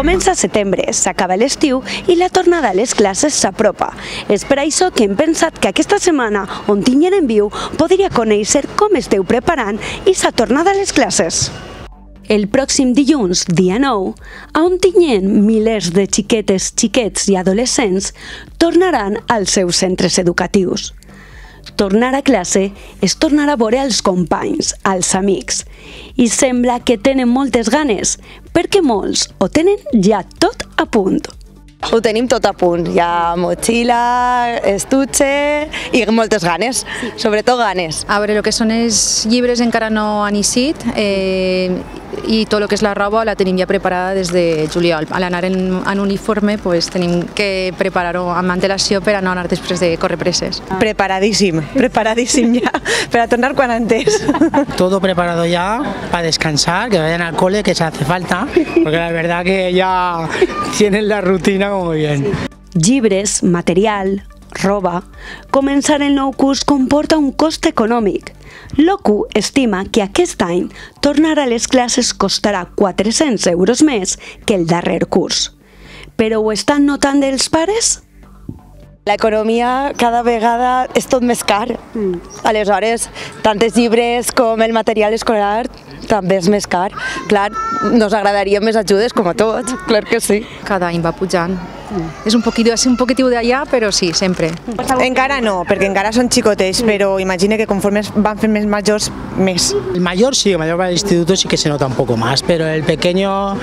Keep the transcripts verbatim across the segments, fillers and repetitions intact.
Comença setembre, s'acaba l'estiu i la tornada a les classes s'apropa. És per això que hem pensat que aquesta setmana, on tinguin en viu, podria conèixer com esteu preparant i sa tornada a les classes. El pròxim dilluns, dia nou, on tinguin milers de xiquetes, xiquets i adolescents, tornaran als seus centres educatius. Tornar a classe és tornar a veure els companys, els amics. I sembla que tenen moltes ganes, perquè molts ho tenen ja tot a punt. Ho tenim tot a punt, hi ha motxilla, estuche i moltes ganes, sobretot ganes. A veure, el que són els llibres encara no han eixit eh, i tot el que és la roba la tenim ja preparada des de juliol. A l'anar en, en uniforme pues, tenim que preparar-ho amb antelació per a no anar després de córrer presses. Preparadíssim, preparadíssim ja, per a tornar quan antes. Todo preparado ya para descansar, que vayan al cole, que se hace falta, porque la verdad que ya tienen la rutina muy bien. Llibres, material, roba... Començar el nou curs comporta un cost econòmic. L'O C U estima que aquest any tornar a les classes costarà quatre-cents euros més que el darrer curs. Però ho estan notant els pares? L'economia cada vegada és tot més car. Mm. Aleshores, tant els llibres com el material escolar també és més car. Clar, nos agradaria més ajudes, com a tots, clar que sí. Cada any va pujant. Mm. És un poquitiu, és un poquitiu d'allà, però sí, sempre. Encara no, perquè encara són xicotets, però imagina que conforme van fent més majors, més. El mayor sí, el mayor para el instituto sí que se nota un poco más, pero el pequeño,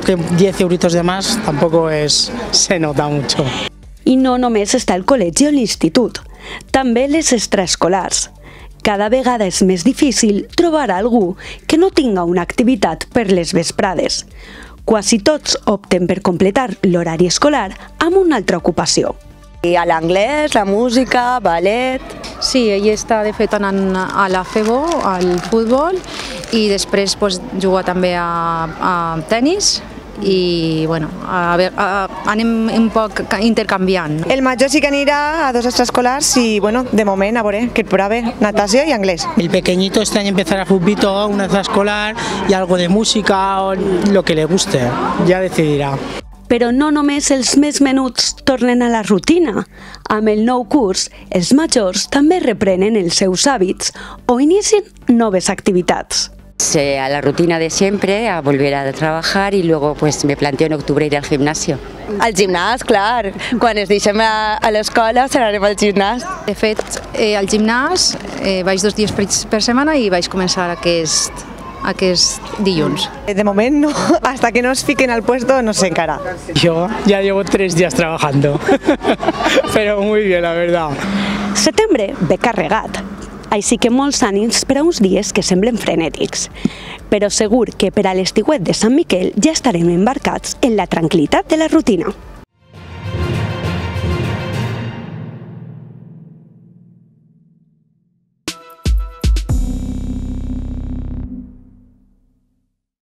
que diez euritos de más, tampoco es, se nota mucho. I no només està el col·legi o l'institut, també les extraescolars. Cada vegada és més difícil trobar algú que no tinga una activitat per les vesprades. Quasi tots opten per completar l'horari escolar amb una altra ocupació. I a l'anglès, la música, ballet... Sí, ell està de fet anant a la FEBO, al futbol, i després pues, juga també a, a tennis, i bueno, a, a, anem un poc intercanviant. El major sí que anirà a dos extraescolars i bueno, de moment a veure, que prove natació i anglès. El pequeñito este año empezará futbito, una extraescolar y algo de música o lo que le guste, ya decidirà. Però no només els més menuts tornen a la rutina. Amb el nou curs, els majors també reprenen els seus hàbits o inicien noves activitats. A la rutina de siempre, a volver a trabajar y luego pues me planteo en octubre ir al gimnasio. Al gimnàs, clar. Quan ens deixem a, a l'escola serem al gimnàs. De fet, eh, al gimnàs eh, vaig dos dies per, per setmana i vaig començar aquest, aquest dilluns. De moment no, hasta que no es fiquen al puesto no sé encara. Yo ya llevo tres días trabajando, pero muy bien, la verdad. Setembre ve carregat. Així que molts ànims per a uns dies que semblen frenètics. Però segur que per a l'estiuet de Sant Miquel ja estarem embarcats en la tranquil·litat de la rutina.